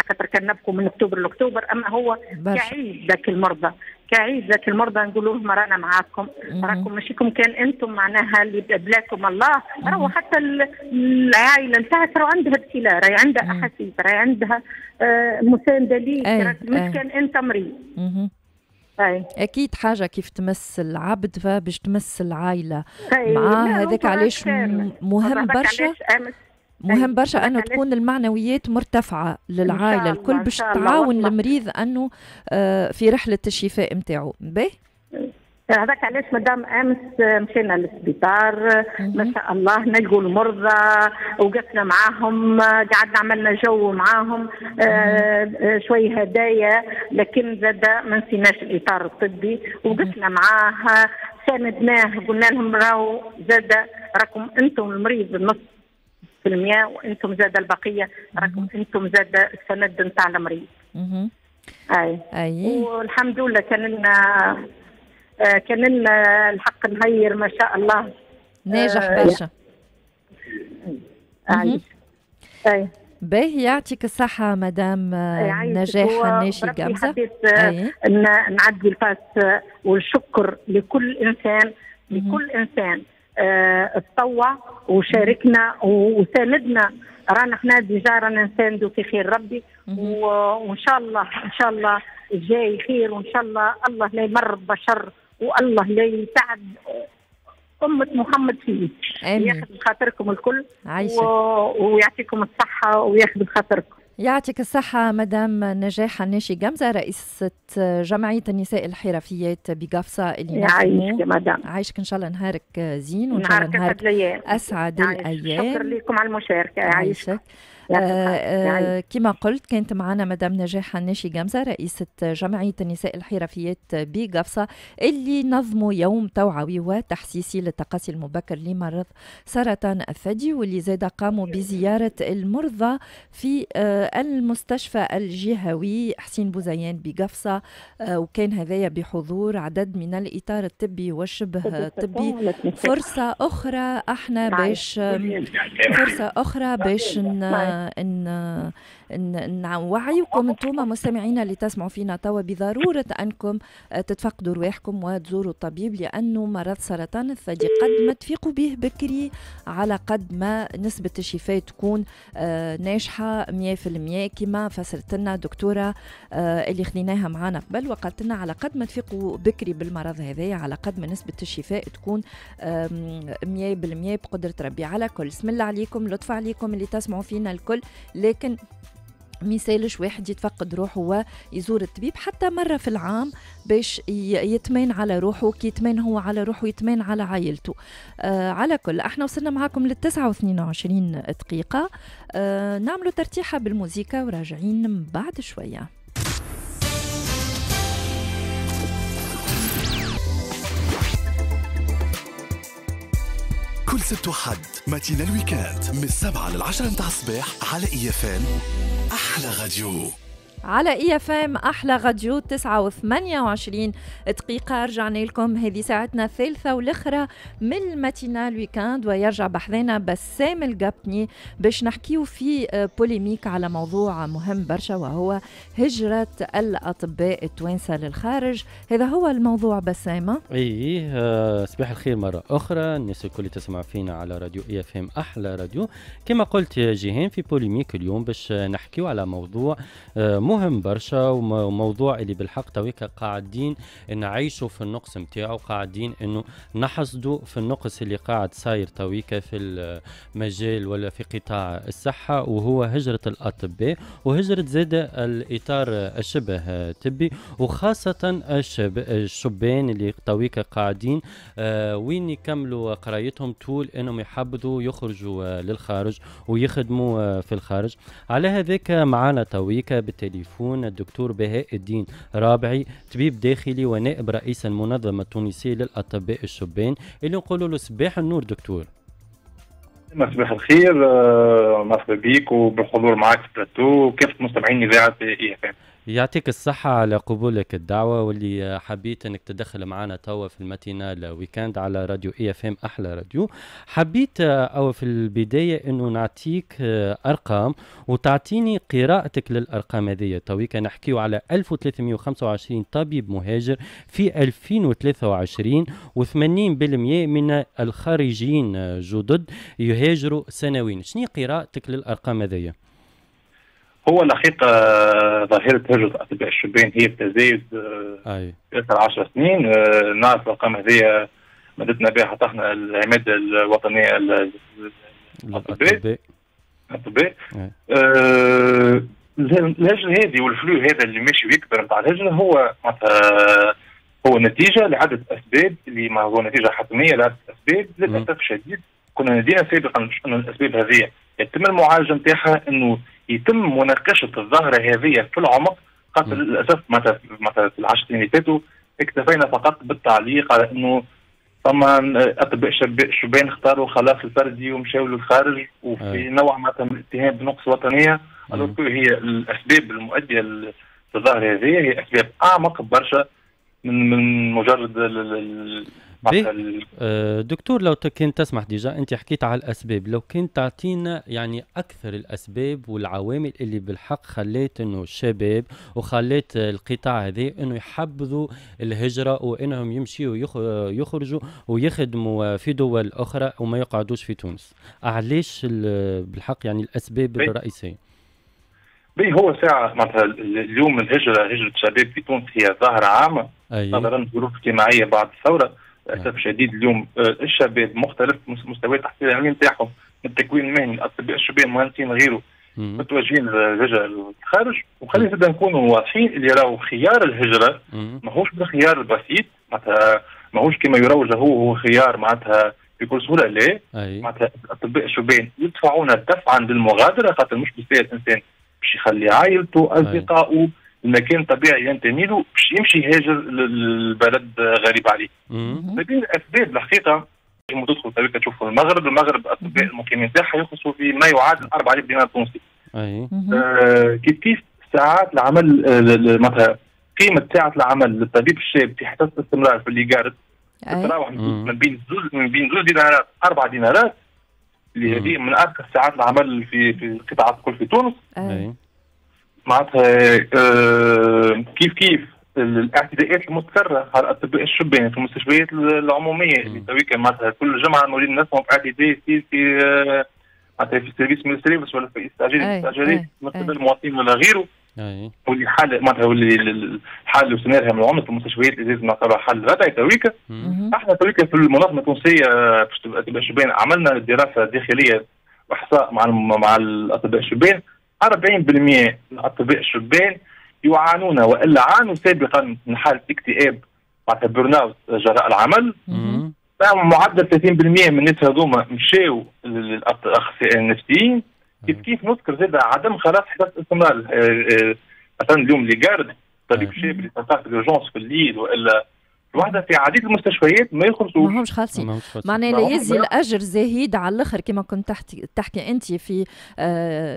خاطر كان نبقوا من اكتوبر لاكتوبر، اما هو كعيد ذاك المرضى، كعيد ذاك المرضى نقولوا لهم رانا معاكم، راكم ماشيكم كان انتم معناها اللي بلاكم الله، راهو حتى العائلة نتاعك راهو عندها ابتلاء، راهي عندها احاسيس، راهي عندها مساندة ليك، مش كان انت مريض. أكيد حاجة كيف تمس العبد فباش تمس العائلة معاه، هذاك علاش مهم برشا، مهم برشا أنه تكون المعنويات مرتفعة للعائلة الكل باش تعاون المريض أنه في رحلة الشفاء نتاعو. باهي هذاك علاش مدام امس مشينا للسبيطار، ما شاء الله نلقوا المرضى، وقفنا معاهم، قعدنا عملنا جو معاهم، شوي هدايا، لكن زاد ما نسيناش الاطار الطبي، وقفنا معاه، ساندناه، قلنا لهم راهو زاد راكم انتم المريض النص في المية وانتم زاد البقية، راكم انتم زاد السند نتاع المريض. اي والحمد لله كان لنا الحق نهير ما شاء الله ناجح برشا. اي باهي، يعطيك الصحة مدام نجاح حناشي قمزة. حبيت نعدي ال passe والشكر لكل إنسان، لكل إنسان اتطوع وشاركنا وساندنا، رانا احنا déjà رانا نساندو في خير ربي، وان شاء الله ان شاء الله الجاي خير، وان شاء الله الله لا يمرض بشر والله لا يتعب أمة محمد فيه. ياخذ بخاطركم الكل ويعطيكم الصحة وياخذ بخاطركم. يعطيك الصحة مدام نجاح حناشي قمزة، رئيسة جمعية النساء الحرفيات بقفصة اللي يعيشك يا مدام. عايشك إن شاء الله، نهارك زين وإن شاء الله نهارك أسعد الأيام. شكرا لكم على المشاركة. يعيشك. كما قلت كانت معنا مدام نجاح حناشي قمزة، رئيسة جمعية النساء الحرفيات بقفصة اللي نظموا يوم توعوي وتحسيسي للتقاصي المبكر لمرض سرطان الثدي، واللي زاد قاموا بزيارة المرضى في المستشفى الجهوي حسين بوزيان بقفصة، وكان هذايا بحضور عدد من الإطار الطبي والشبه الطبي. فرصة أخرى احنا باش فرصة أخرى باش نوعيكم انتم مستمعينا اللي تسمعوا فينا توا بضرورة أنكم تتفقدوا رواحكم وتزوروا الطبيب، لأنه مرض سرطان الثدي قد ما تفيقوا به بكري على قد ما نسبة الشفاء تكون ناجحة 100%، كما فسرت لنا دكتورة اللي خديناها معانا قبل وقالت لنا على قد ما تفيقوا بكري بالمرض هذايا على قد ما نسبة الشفاء تكون 100% بقدرة ربي. على كل بسم الله عليكم، لطف عليكم اللي تسمعوا فينا الكل، لكن ميسالش واحد يتفقد روحه ويزور الطبيب حتى مرة في العام باش يتمين على روحه، كي يتمين هو على روحه يتمين على عائلته. على كل احنا وصلنا معاكم لل9:22 دقيقة، نعملوا ترتيحة بالموسيقى وراجعين بعد شوية. سبت وحد matinale week-end من 7 لل10 متاع الصباح على IFM احلى راديو. على IFM احلى راديو 9:28. رجعنا لكم، هذه ساعتنا الثالثة والاخرى من ال matinale week-end، ويرجع بحذانا بسام القبني باش نحكيو في polémique على موضوع مهم برشا، وهو هجره الاطباء التوانسة للخارج. هذا هو الموضوع بسامه. اي صباح الخير مرة اخرى الناس الكل تسمع فينا على راديو IFM احلى راديو. كما قلت يا جيهان، في polémique اليوم باش نحكيو على موضوع مهم برشا، وموضوع اللي بالحق تويكا قاعدين نعيشوا في النقص نتاعو، قاعدين انه نحصدوا في النقص اللي قاعد صاير تويكا في المجال ولا في قطاع الصحة، وهو هجرة الأطباء وهجرة زاد الإطار الشبه طبي، وخاصة الشبان اللي تويكا قاعدين وين يكملوا قرايتهم طول انهم يحبذوا يخرجوا للخارج ويخدموا في الخارج. على هذاك معنا تويكا بالتليفون الدكتور بهاء الدين رابعي، طبيب داخلي ونائب رئيس المنظمة التونسية للأطباء الشبان، اللي نقولوا له صباح النور دكتور. صباح الخير، مرحبا بك وبالحضور معك في بلاتو وكافة مستمعين إذاعة IFM. يعطيك الصحة على قبولك الدعوة، واللي حبيت انك تدخل معنا توا في ال matinale week-end على راديو IFM احلى راديو. حبيت او في البداية انه نعطيك ارقام وتعطيني قراءتك للارقام هذه. تويكا نحكيو على 1325 طبيب مهاجر في 2023، و80% من الخارجين جدد يهاجروا سنويا. شنو قراءتك للارقام هذه؟ هو الحقيقة ظاهرة هجرة الأطباء الشبان هي بتزايد في آخر 10 سنين. نعرف الأرقام هذه مدتنا بها حتى احنا العمادة الوطنية للأطباء. الهجرة هذه والفلو هذا اللي ماشي ويكبر نتاع الهجرة هو معناتها هو نتيجة لعدة أسباب، اللي ما هو نتيجة حتمية لعدة أسباب. للأسف الشديد كنا نادينا سابقا أن الأسباب هذه يتم المعالجة نتاعها، أنه يتم مناقشة الظاهرة هذه في العمق، خاطر للأسف مثلا في ال10 سنين اللي فاتوا اكتفينا فقط بالتعليق على أنه فما أطباء شبان اختاروا خلاص الفردي ومشاو للخارج، وفي نوع مثلا من الاتهام بنقص وطنية. هي الأسباب المؤدية للظاهرة هذه هي أسباب أعمق برشا من مجرد دكتور، لو كنت تسمح déjà انت حكيت على الاسباب، لو كنت تعطينا يعني اكثر الاسباب والعوامل اللي بالحق خليت انه الشباب وخليت القطاع هذا انه يحبذوا الهجرة وانهم يمشيوا يخرجوا ويخدموا في دول اخرى وما يقعدوش في تونس، علاش بالحق يعني الاسباب الرئيسية؟ هو ساعة معناتها اليوم الهجرة، هجرة الشباب في تونس هي ظاهرة عامة نظرا للظروف الاجتماعية بعد الثورة. للأسف الشديد اليوم الشباب مختلف مستويات التحصيل العلمي نتاعهم، من التكوين المهني، الأطباء الشبان، المهندسين غيره، متوجهين للهجرة للخارج. وخلينا زاد نكونوا واضحين اللي راهو خيار الهجرة ماهوش بالخيار البسيط، معناتها ماهوش كما يروج له هو خيار معناتها بكل سهولة. لا، معناتها الأطباء الشبان يدفعون دفعا للمغادرة، خاطر مش بالسهل الإنسان باش يخلي عائلته، أصدقائه، المكان الطبيعي ينتمي له باش يمشي يهاجر للبلد غريب عليه. فبين الاسباب الحقيقة تدخل طريقه تشوفوا المغرب، الاطباء المقيمين تاعها يخلصوا في ما يعادل 4000 دينار تونسي. كيف كيف ساعات العمل، مثلا قيمة ساعة العمل للطبيب الشاب في حصة الاستمرار في les gardes تتراوح من بين 2 دينارات 4 دينارات، اللي هذه من ارخص ساعات العمل في القطاعات الكل في تونس. معناتها كيف كيف الاعتداءات المتكررة على الاطباء الشبان في المستشفيات العمومية اللي تويكا معناتها كل جمعه نولي نسمعوا باعتداء يصير في معناتها في service من ال services ولا في استعجالات من قبل المواطنين ولا غيره. واللي حال معناتها واللي الحال اللي وصلنا لها من العنف في المستشفيات اللي لازم نعطيها حل ردعي تويكا. احنا تويكا في المنظمة التونسية الاطباء الشبان عملنا دراسة داخلية واحصاء مع الاطباء الشبان. 40% من الاطباء الشبان يعانون والا عانوا سابقا من حاله اكتئاب معناتها burn-out جراء العمل. معدل 30% من الناس هذوما مشاو للاخصائيين النفسيين. كيف كيف نذكر زاد عدم خلاص حصة الاستمرار. مثلا اليوم les gardes طبيب شاب اللي تلقاه في l'urgence في الليل والا الوحدة في عديد المستشفيات ما يخلصوش، ماهمش خالصين. معناها لا يزي الاجر زهيد على الاخر كما كنت تحكي انت في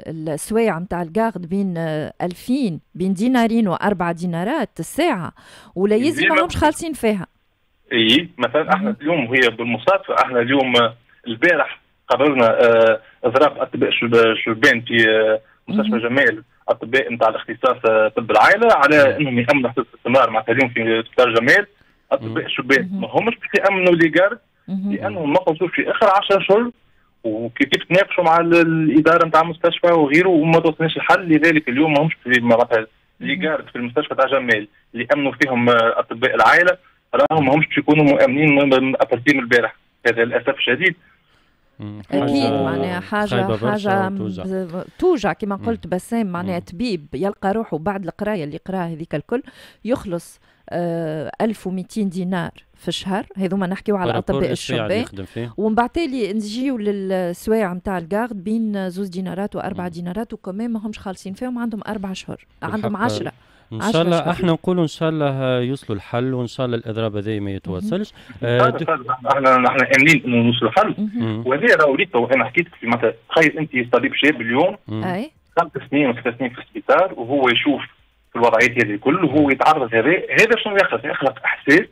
السوايع نتاع ال garde بين 2000 بين دينارين و4 دينارات الساعة، ولا يزي ماهمش خالصين فيها. اي مثلا احنا اليوم وهي بالمصادفه احنا اليوم البارح قررنا اضراب اطباء شبان في مستشفى جمال، اطباء نتاع الاختصاص طب العائلة، على انهم يامنوا حصة الاستمرار. معناتها اليوم في سبيطار جمال اطباء الشبان ما همش باش يامنوا les gardes لانهم ما خلصوش في اخر 10 اشهر، وكيف تناقشوا مع الادارة نتاع المستشفى وغيره وما توصلناش الحل. لذلك اليوم ما همش معناتها les gardes في المستشفى تاع جمال اللي امنوا فيهم اطباء العائلة راهم ما همش باش يكونوا مؤمنين à partir من البارح. هذا للاسف الشديد. اكيد معناها حاجة توجع كما قلت بسام. معناها طبيب يلقى روحه بعد القراية اللي قراها هذيك الكل يخلص 1200 دينار في الشهر، هذوما نحكيو على الاطباء الشبان، ومن بعد تالي نجيو للسوايع نتاع ال garde بين 2 دينارات و4 دينارات، وكمان ما همش خالصين فيهم، عندهم 4 اشهر، عندهم 10. ان شاء الله احنا نقولوا ان شاء الله يوصلوا الحل، وان شاء الله الاضراب هذا ما يتواصلش. احنا امنين انه نوصلوا الحل، وهذا راهو ريت انا حكيت في مثلا تخيل انت طبيب شاب اليوم 5 سنين و6 سنين في السبيطار وهو يشوف في الوضعيات هذه الكل وهو يتعرض هذا شنو يخلق؟ يخلق احساس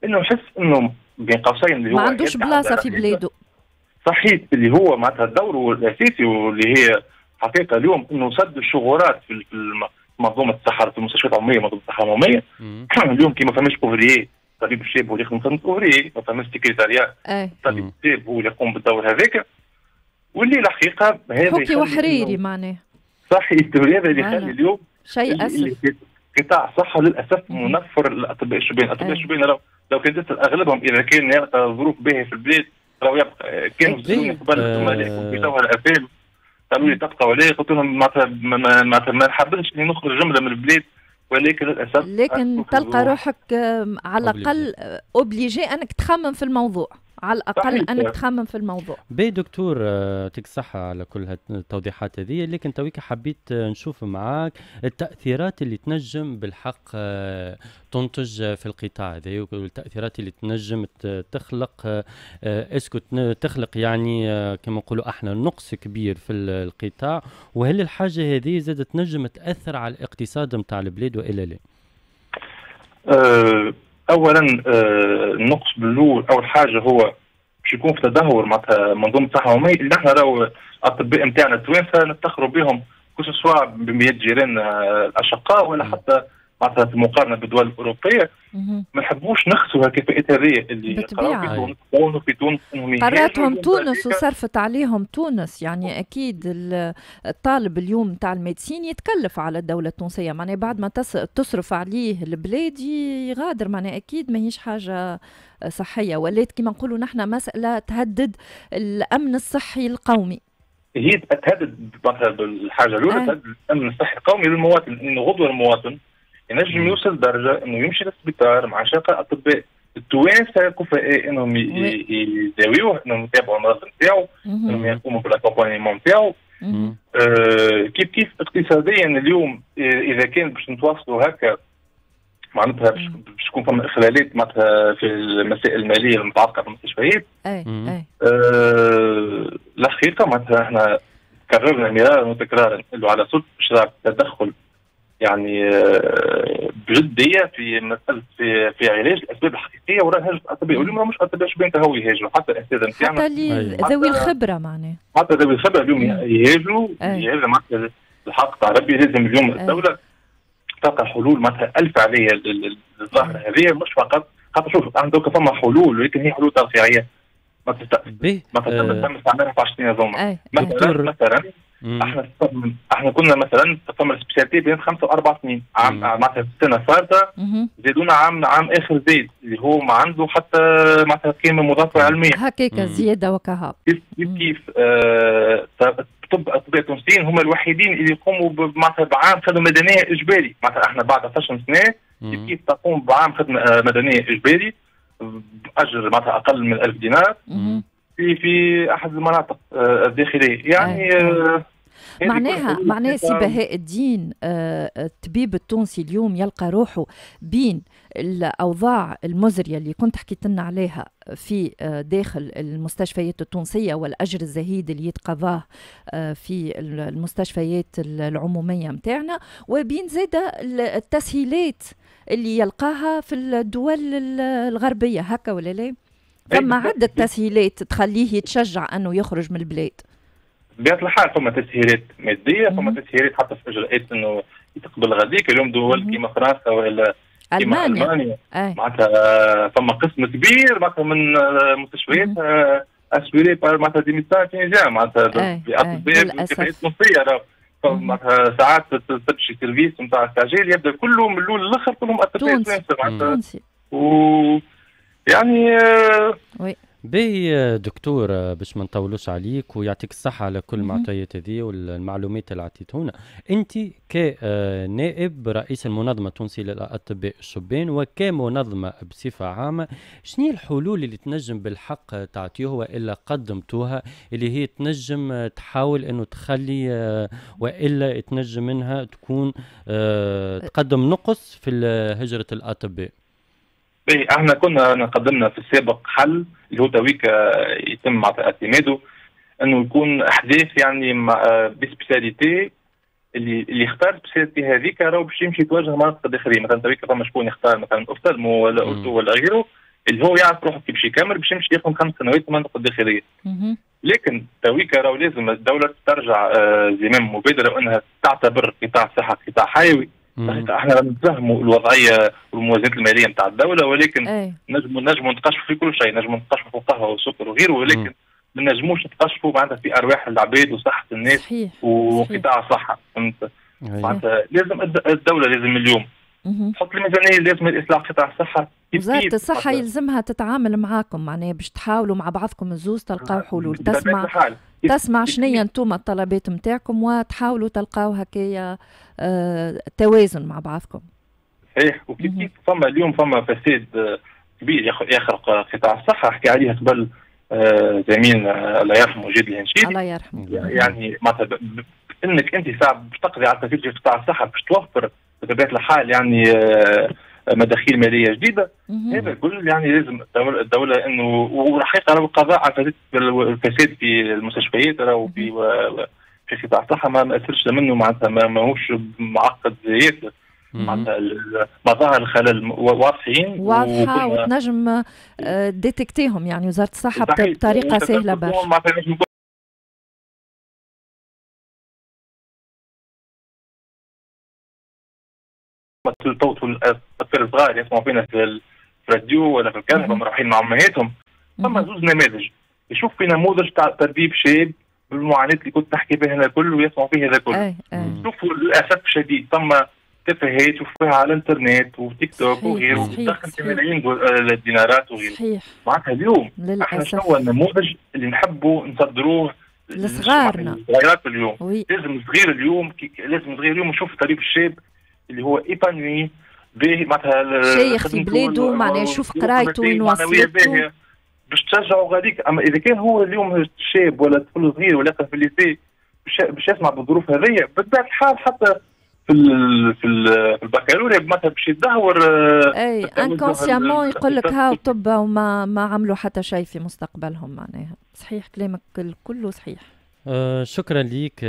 انه يحس انه بين قوسين اللي هو ما عندوش بلاصة في بلاده. صحيح، اللي هو معناتها دوره الاساسي واللي هي حقيقة اليوم انه سد الشغورات في منظومة الصحة في المستشفيات العمومية، منظومة الصحة العمومية. اليوم كي ما فماش ouvrier، طبيب الشاب هو اللي يخدم خدمة ouvrier، ما فماش سكرتاريا، طبيب الشاب هو اللي يقوم بالدور هذاك، واللي الحقيقة هذا حكي وحريري معناه. صحيح، هذا اللي يخلي اليوم شيء اسف قطاع الصحة للاسف منفر الاطباء الشبان. الاطباء الشبان لو كان تسال اغلبهم اذا كان يلقى ظروف باهيه في البلاد راهو يبقى. كانوا يسالوني قبل الزملاء في جوهر الافلام قالوا لي تبقى ولا، قلت لهم معناتها ما نحبش اني نخرج جملة من البلاد، ولكن للاسف لكن تلقى روحك على الاقل obligé انك تخمم في الموضوع، على الاقل انك تخمم في الموضوع. باهي دكتور، يعطيك الصحة على كل التوضيحات هذه، لكن تويك حبيت نشوف معاك التأثيرات اللي تنجم بالحق تنتج في القطاع هذا، والتأثيرات اللي تنجم تخلق est-ce que تخلق يعني كما نقولوا احنا نقص كبير في القطاع، وهل الحاجة هذه زادت تنجم تأثر على الاقتصاد نتاع البلاد والا لا؟ اولا النقص بالاول، اول حاجة هو باش يكون في تدهور معناتها منظومة الصحة العمومية اللي احنا راهو الاطباء نتاعنا التوانسة نفتخروا بهم، que ce soit بمئات جيراننا الاشقاء ولا حتى معناتها في المقارنة بالدول الاوروبية. ما نحبوش نخسروا هالكفاءات هذه اللي قراو في تونس، انهم قراتهم تونس وصرفت عليهم تونس. يعني اكيد الطالب اليوم تاع ال médecine يتكلف على الدولة التونسية، معناها بعد ما تصرف عليه البلاد يغادر، معناها اكيد ماهيش حاجة صحية، ولات كما نقولوا نحن مسالة تهدد الامن الصحي القومي. هي تهدد مثلا بالحاجة الاولى تهدد الامن الصحي القومي للمواطن، انه غدوه المواطن ينجم يوصل درجه انه يمشي للسبيطار مع شقة اطباء التوانسة كفاء انهم يداويوه، انهم يتابعوا المرض نتاعو، انهم يقوموا بال accompagnement نتاعو. كيف كيف اقتصاديا اليوم اذا كان باش نتواصلوا هكا معناتها باش تكون فما اخلالات معناتها في المسائل المالية المتعلقة بالمستشفيات. الحقيقة معناتها احنا كررنا مرارا وتكرارا انه على سلطة اشراف تدخل يعني بجدية في مسالة في علاج الاسباب الحقيقية وراء هجره الاطباء. واليوم مش اطباء شبان هو يهاجروا، حتى الاساتذة نتاعنا، حتى اللي ذوي الخبرة معناها، حتى ذوي الخبرة اليوم يهاجروا. هذا معناتها الحق تاع ربي، لازم اليوم الدولة تلقى حلول معناتها الف عليها الظاهرة هذه، مش فقط خاطر شوف عندك فما حلول ولكن هي حلول ترفيعيه ما تم استعمالها في 10 سنين هذوما. مثلا احنا كنا مثلا فما spécialité بين 5 و4 سنين، عام معناتها في السنة الفارطه زادونا عام اخر زيد اللي هو ما عنده حتى معناتها قيمة مضافة علمية هكاك زيادة وكهاب. كيف طب اطباء التونسيين هم الوحيدين اللي يقوموا معناتها بعام خدمة مدنية اجباري. معناتها احنا بعد 12 سنة كيف تقوم بعام خدمة مدنية اجباري باجر معناتها اقل من 1000 دينار في احد المناطق الداخلية. يعني معناها سي بهاء الدين، الطبيب التونسي اليوم يلقى روحه بين الأوضاع المزرية اللي كنت حكيت لنا عليها في داخل المستشفيات التونسية والأجر الزهيد اللي يتقاضاه في المستشفيات العمومية متاعنا، وبين زادة التسهيلات اللي يلقاها في الدول الغربية، هكا ولا لا؟ فما عدة تسهيلات تخليه يتشجع أنه يخرج من البلاد. بطبيعة الحال فما تسهيلات مادية، فما تسهيلات حتى في إجراءات أنه يتقبل غاديك. اليوم دول كيما فرنسا ولا كيما ألمانيا معناتها فما قسم كبير معناتها من مستشفيات assuré par معناتها des médecins tunisiens، معناتها بأطباء بكفاءات تونسية. معناتها ساعات تمشي service نتاع استعجال يبدا كله من الاول للاخر كلهم اطباء تونسي و يعني oui. باهي دكتور، باش ما نطولوش عليك ويعطيك الصحة على كل المعطيات هذه والمعلومات اللي عطيتونا. أنت كنائب رئيس المنظمة التونسية للأطباء الشبان وكمنظمة بصفة عامة، شنو الحلول اللي تنجم بالحق تعطيوها وإلا قدمتوها اللي هي تنجم تحاول أنه تخلي وإلا تنجم منها تكون تقدم نقص في هجرة الأطباء؟ باهي، احنا كنا قدمنا في السابق حل اللي هو تويك يتم اعتماده، انه يكون احداث يعني ب spécialité اللي اختار spécialité هذيك راهو باش يمشي يتواجه مناطق داخلية. مثلا تويك فما شكون يختار مثلا ophtalmo ولا ortho ولا غيره، اللي هو يعرف روحه كيف باش يكمل باش يمشي يخدم 5 سنوات في المنطقة الداخلية. لكن تويك راهو لازم الدولة ترجع زمام مبادرة وانها تعتبر قطاع الصحة قطاع حيوي. احنا نفهموا الوضعية والموازنات المالية نتاع الدولة، ولكن نجموا نتقشفوا في كل شيء، نجموا نتقشفوا في القهوة والسكر وغيره، ولكن ما نجموش نتقشفوا معناتها في ارواح العباد وصحة الناس وقطاع الصحة. فهمت؟ معناتها لازم الدولة لازم اليوم تحط الميزانية، لازم الاصلاح قطاع الصحة. وزارة الصحة يلزمها تتعامل معاكم، معناها باش تحاولوا مع بعضكم الزوز تلقاو حلول، تسمع شنيا انتم الطلبات نتاعكم وتحاولوا تلقاو هكايا توازن مع بعضكم. صحيح. وكيف كيف فما اليوم فما فساد كبير يخرق قطاع الصحة، حكي عليه قبل زميلنا الله يرحمه جاد الهنشيري. الله يرحمه. يعني معناتها انك انت ساعة باش تقضي على الفساد في قطاع الصحة باش توفر بطبيعة الحال يعني مداخيل ماليه جديدة. هذا كل يعني لازم الدولة انه، والحقيقة راهو القضاء على الفساد في المستشفيات راهو في قطاع الصحة ما اثرش منه، معناتها ماهوش معقد ياسر، معناتها مظاهر الخلل واضحين واضحة وتنجم détecter هم يعني وزارة الصحة بطريقة سهلة برشا. الأطفال الصغار يسمعوا فينا في الراديو ولا في الكهرباء مروحين مع أمهاتهم، فما زوج نماذج، يشوف في نموذج تاع تربيب شاب بالمعاناة اللي كنت نحكي بها هنا الكل ويسمعوا فيه هذا الكل. شوفوا للأسف الشديد ثم تفاهات تشوفوها على الانترنت وتيك توك وغيره، وتدخل في ملايين الدينارات وغيره. صحيح. معناتها اليوم احنا شنو هو النموذج اللي نحبوا نصدروه لصغارنا؟ الصغيرات اليوم. لازم صغير اليوم، لازم صغير اليوم يشوف طبيب الشاب اللي هو épanoui باهي، معناتها شيخ في بلاده، معناها يشوف قرايته وين وصلته باش تشجعوا غاديك. اما اذا كان هو اليوم شاب ولا طفل صغير ولا في ال lycée باش يسمع بالظروف هذيا، بطبيعة الحال حتى في البكالوريا مثلا باش يدهور اي inconsciemment يقول لك هاو طب وما ما عملوا حتى شيء في مستقبلهم. معناها صحيح كلامك كله صحيح. شكرا لك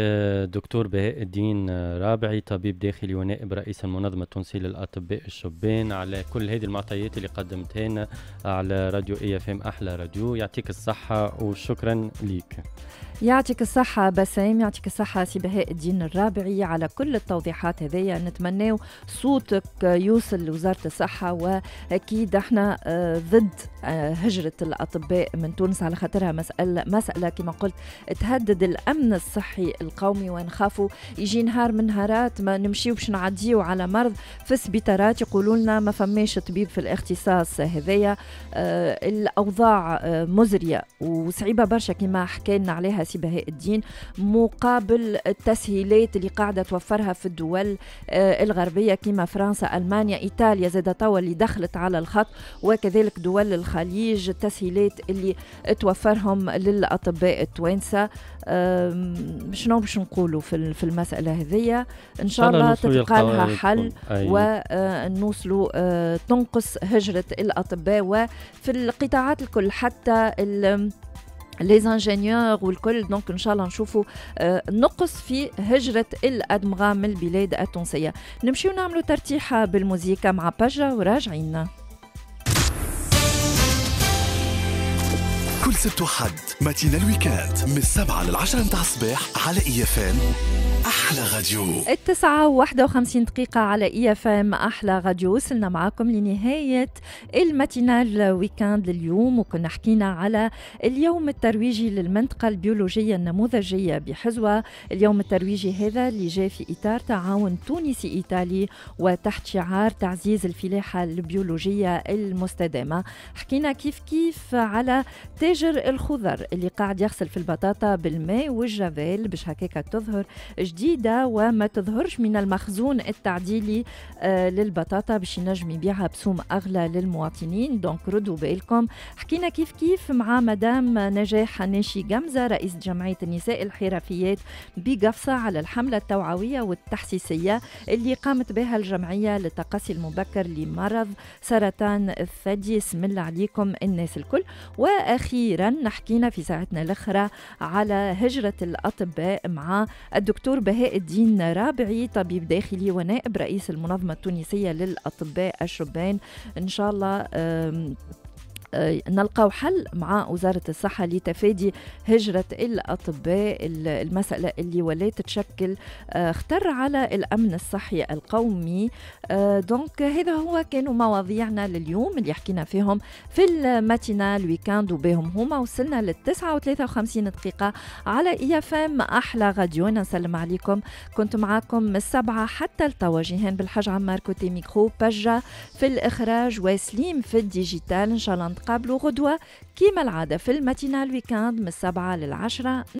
دكتور بهاء الدين رابعي، طبيب داخلي ونائب رئيس المنظمة التونسية للأطباء الشبان، على كل هذه المعطيات اللي قدمتها لنا على راديو IFM أحلى راديو. يعطيك الصحة وشكرا لك. يعطيك الصحة بسام، يعطيك الصحة سي بهاء الدين الرابعي على كل التوضيحات هذيا. نتمناو صوتك يوصل لوزارة الصحة، وأكيد احنا ضد هجرة الأطباء من تونس على خاطرها مسألة كما قلت تهدد الأمن الصحي القومي، ونخافوا يجي نهار من نهارات ما نمشيو باش نعديو على مرض في السبيطارات يقولوا لنا ما فماش طبيب في الاختصاص هذايا. الأوضاع مزرية وصعيبة برشا كما حكينا عليها سي بهاء الدين، مقابل التسهيلات اللي قاعدة توفرها في الدول الغربية كما فرنسا، ألمانيا، إيطاليا زاد توا اللي دخلت على الخط، وكذلك دول الخليج، التسهيلات اللي توفرهم للأطباء التوانسة. شنو باش نقولوا في المسألة هذية؟ إن شاء الله تلقى لها حل ونوصلوا تنقص هجرة الأطباء وفي القطاعات الكل، حتى les ingénieurs والكل. donc ان شاء الله نشوفوا نقص في هجرة الأدمغة من البلاد التونسية. نمشيو نعملوا ترتيحة بالموزيكا مع باجا وراجعين. كل سبت وحد matinale week-end من 7 ل10 متاع الصباح على IFM احلى راديو. 9:51 على IFM احلى راديو. وصلنا معاكم لنهاية ال matinale week-end لليوم، وكنا حكينا على اليوم الترويجي للمنطقة البيولوجية النموذجيه بحزوه. اليوم الترويجي هذا اللي جاء في اطار تعاون تونسي ايطالي وتحت شعار تعزيز الفلاحة البيولوجية المستدامة. حكينا كيف كيف على تاجر الخضر اللي قاعد يغسل في البطاطا بالماء والجافيل باش هكاك تظهر جديدة وما تظهرش من المخزون التعديلي للبطاطا باش ينجم يبيعها بسوم أغلى للمواطنين. donc ردوا بالكم. حكينا كيف كيف مع مدام نجاح حناشي جمزة رئيس جمعية النساء الحرفيات بقفصة على الحملة التوعوية والتحسيسية اللي قامت بها الجمعية للتقصي المبكر لمرض سرطان الثدي. اسم الله عليكم الناس الكل. وأخيرا حكينا في ساعتنا الأخرى على هجرة الأطباء مع الدكتور بهاء الدين رابعي، طبيب داخلي ونائب رئيس المنظمة التونسية للأطباء الشبان. إن شاء الله نلقاو حل مع وزارة الصحة لتفادي هجرة الأطباء، المسألة اللي ولات تشكل خطر على الأمن الصحي القومي. donc هذا هو كانوا مواضيعنا لليوم اللي حكينا فيهم في ال matinale week-end، وبهم هما وصلنا لل9:53 على IFM أحلى راديو. نسلم عليكم، كنت معاكم من 7 حتى لتوا. جيهان بالحاج عمار côté micro، بجة في الإخراج، وسليم في ال digital. إن شاء الله نتقابلوا غدوة كيما العادة في ال matinale week-end من 7 ل10.